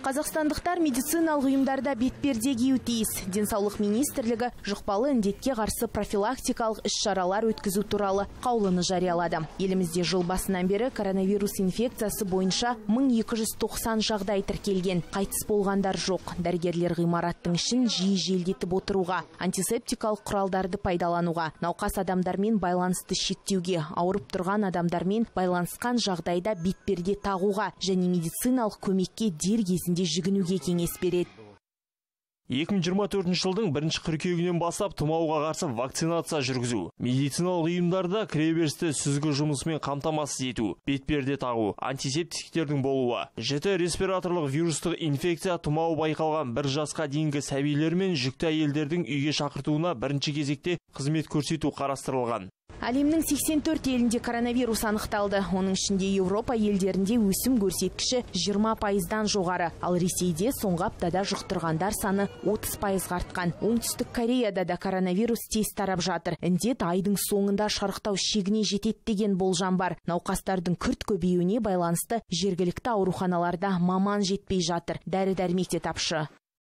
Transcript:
Қазақстандықтар медициналық ұйымдарда бетперде кию тиіс. Денсаулық министрлігі жұқпалы індетке қарсы профилактикалық іс-шаралар өткізу туралы қаулыны жариялады. Елімізде жыл басынан бері коронавирус инфекциясы бойынша 1290 жағдай тіркелген. Қайтыс болғандар жоқ. Дәрігерлер ғимараттың ішін жиі желдетіп отыруға, антисептикалық құралдарды пайдалануға, науқас адамдармен байланысты шектеуге, ауырып тұрған адамдармен байланысқан жағдайда бетперде тағуға және медициналық көмекке дер кезінде жүгінуге кеңес береді. 2024 жылдың 1 қыркүйегінен бастап тұмауға қарсы вакцинация жүргізу, медициналық ұйымдарда кіреберісті сүзгі жұмысымен қамтамасыз ету, бетперде тағу, антисептиктердің болуы, жіті респираторлық вирустық инфекция тұмау байқалған 1 жасқа дейінгі сәбилер мен жүкті әйелдердің үйге шақыртуына бірінші кезекте қызмет көрсету қарастырылған. Әлемнің 84 елінде коронавирус анықталды. Оның ішінде Еуропа елдерінде өсім көрсеткіші 20%-дан жоғары. Ал Ресейде соңғы аптада жұқтырғандар саны 30% артқан. Оңтүстік Кореяда да коронавирус тез тарап жатыр. Індет айдың соңында шарықтау шегіне жетеді деген болжам бар. Науқастардың күрт көбеюіне байланысты жергілікті ауруханаларда маман жетпей жатыр. Дәрі-дәрмек те тапшы.